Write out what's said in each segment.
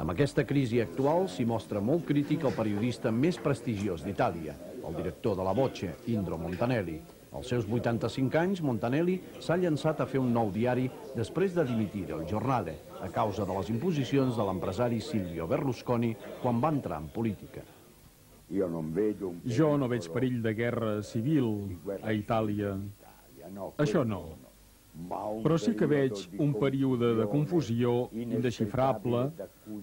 Amb aquesta crisi actual s'hi mostra molt crític el periodista més prestigiós d'Itàlia, el director de La Voce, Indro Montanelli. Als seus 85 anys, Montanelli s'ha llançat a fer un nou diari després de dimitir El Giornale, a causa de les imposicions de l'empresari Silvio Berlusconi quan va entrar en política. Jo no veig perill de guerra civil a Itàlia. Això no. Però sí que veig un període de confusió indesxifrable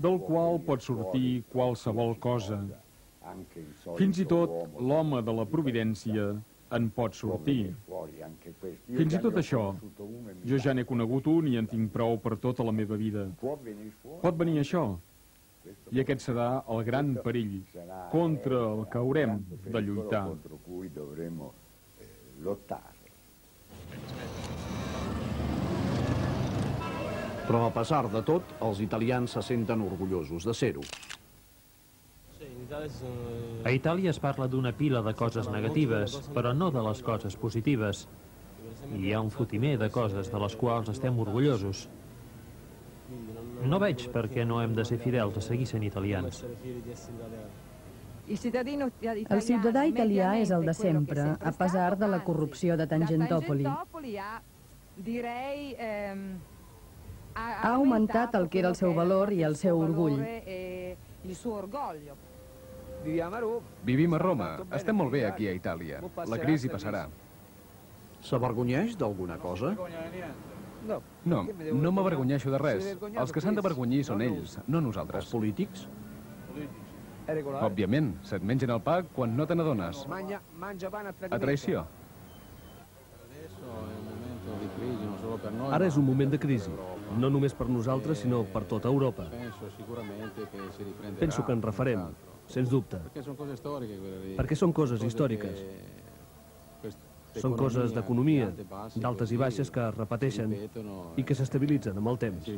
del qual pot sortir qualsevol cosa. Fins i tot l'home de la providència en pot sortir. Fins i tot això, jo ja n'he conegut un i en tinc prou per tota la meva vida. Pot venir això, i aquest serà el gran perill contra el que haurem de lluitar. Però a pesar de tot, els italians se senten orgullosos de ser-ho. A Itàlia es parla d'una pila de coses negatives, però no de les coses positives. Hi ha un fotimer de coses de les quals estem orgullosos. No veig per què no hem de ser fidels a seguir sent italians. El ciutadà italià és el de sempre, a pesar de la corrupció de Tangentopoli. Ha augmentat el que era el seu valor i el seu orgull. Vivim a Roma. Estem molt bé aquí a Itàlia. La crisi passarà. S'avergonyeix d'alguna cosa? No, no m'avergonyeixo de res. Els que s'han d'avergonyir són ells, no nosaltres. Els polítics? Òbviament, se't mengen el pa quan no te n'adones. A traïció. Ara és un moment de crisi, no només per nosaltres, sinó per tota Europa. Penso que en refarem, sens dubte, perquè són coses històriques. Són coses d'economia, d'altes i baixes que es repeteixen i que s'estabilitzen amb el temps.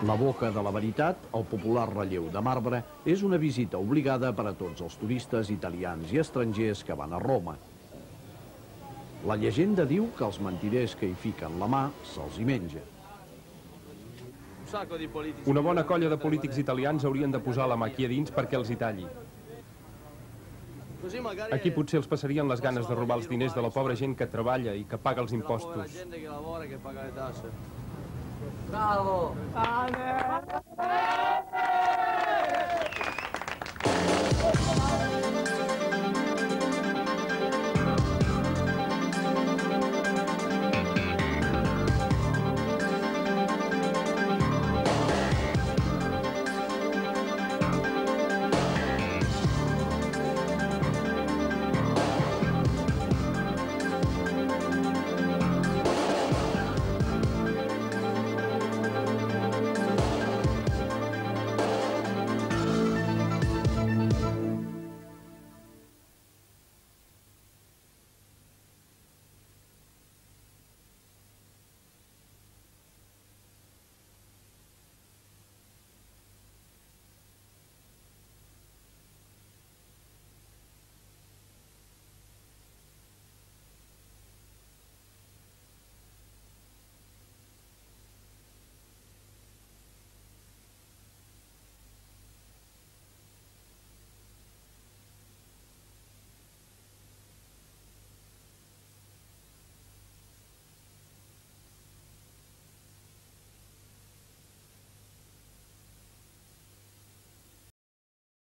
La boca de la veritat, el popular relleu de marbre, és una visita obligada per a tots els turistes italians i estrangers que van a Roma. La llegenda diu que els mentiders que hi fiquen la mà se'ls hi menja. Una bona colla de polítics italians haurien de posar la mà aquí a dins perquè els hi talli. Aquí potser els passarien les ganes de robar els diners de la pobra gent que treballa i que paga els impostos. Bravo!